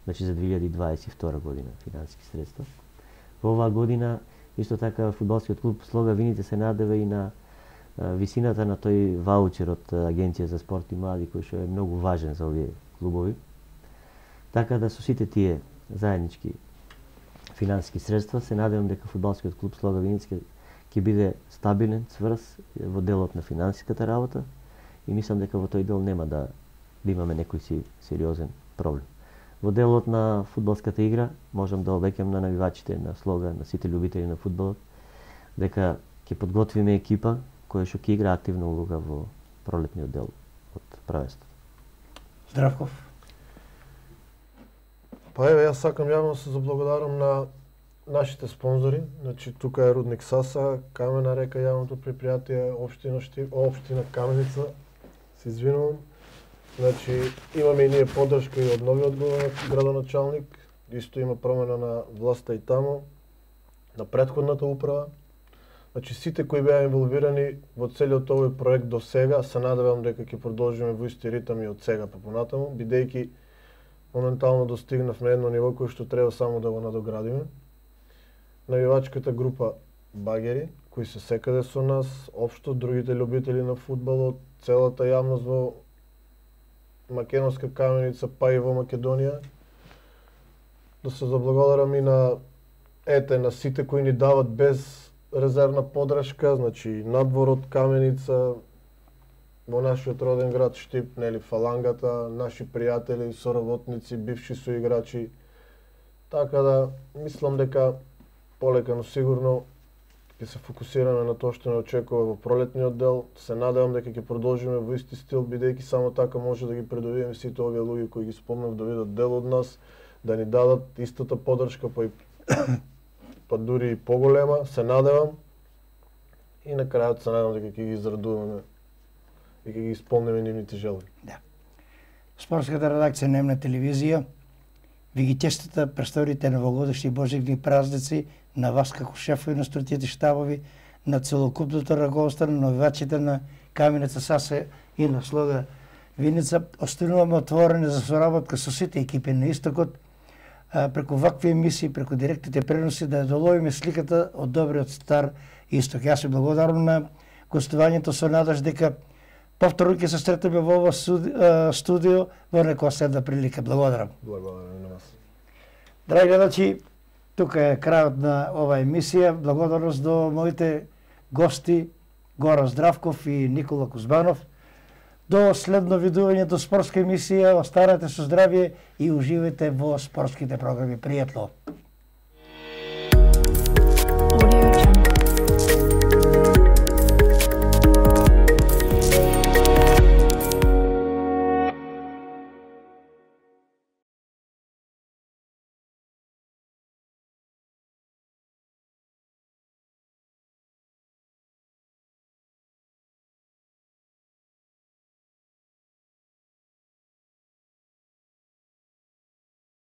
значи за 2022 година финансиски средства. Во оваа година исто така фудбалскиот клуб Слога Виница се надева и на висината на тој ваучер од Агенција за спорт и млади кој што е многу важен за овие клубови. Така да со сите тие заеднички финансиски средства се надевам дека фудбалскиот клуб Слога Виница ќе биде стабилен, цврст во делот на финансиската работа и мислам дека во тој дел нема да имаме некој си сериозен проблем. Во делот на фудбалската игра можам да обеќам на навивачите на Слога, на сите љубители на фудбалот, дека ќе подготвиме екипа која што ќе игра активна улога во пролетниот дел од правенството. Здравков. Па еве, јас сакам јавно се заблагодарам на нашите спонзори, значи тука е Рудник Саса, Камена река, јавното предпријатие, општина Каменица, се извинувам. Значи, имаме и ние поддршка и од новиот градоначалник, исто има промена на власта и таму, на претходната управа. Значи, сите кои беа инволвирани во целиот овој проект до сега, се надевам дека ќе продолжиме во исти ритам и од сега па понатаму, бидејќи моментално достигнавме едно ниво кој што треба само да го надоградиме. Навивачката група Багери, кои се секаде со нас, општо другите љубители на фудбалот, целата јавност во Македонска Каменица, па и во Македонија. Да се заблагодарам и на сите кои ни дават без резервна поддршка, значи надворот Каменица, во нашиот роден град Штип, нели Фалангата, наши пријатели, соработници, бивши соиграчи. Така да мислам дека полека но сигурно ќе се фокусираме на тоа што не очекува во пролетниот дел. Се надевам дека ќе продолжиме во исти стил, бидејќи само така може да ги предовиеме сите овие луѓе кои ги спомнав да видат дел од нас, да ни дадат истата поддршка, па дури и поголема, се надевам. И на крајот се надевам дека ќе ги израдуваме и ќе ги исполниме нивните желби. Да. Спортската редакција на Емна телевизија ви ги честита престојните новогодишни божигни празници на вас како шефови на струтите штабови, на целокупното раководство, на навивачите на Каменица Саса и на Слога Виница. Остануваме отворени за соработка со сите екипи на Истокот, преку вакви емисии, преку директните преноси, да ја доловиме сликата од добриот стар Исток. Јас ви благодарам на гостувањето со надеж дека повторно ќе се сретнеме во ова студио во некоја следна прилика. Благодарам. Благодарам на вас. Драги гледачи, тука е крајот на оваа емисија. Благодарност до моите гости Гоran Здравков и Никола Кузбанов. До следно видување до спортска емисија, останете со здравје и уживајте во спортските програми. Пријатно!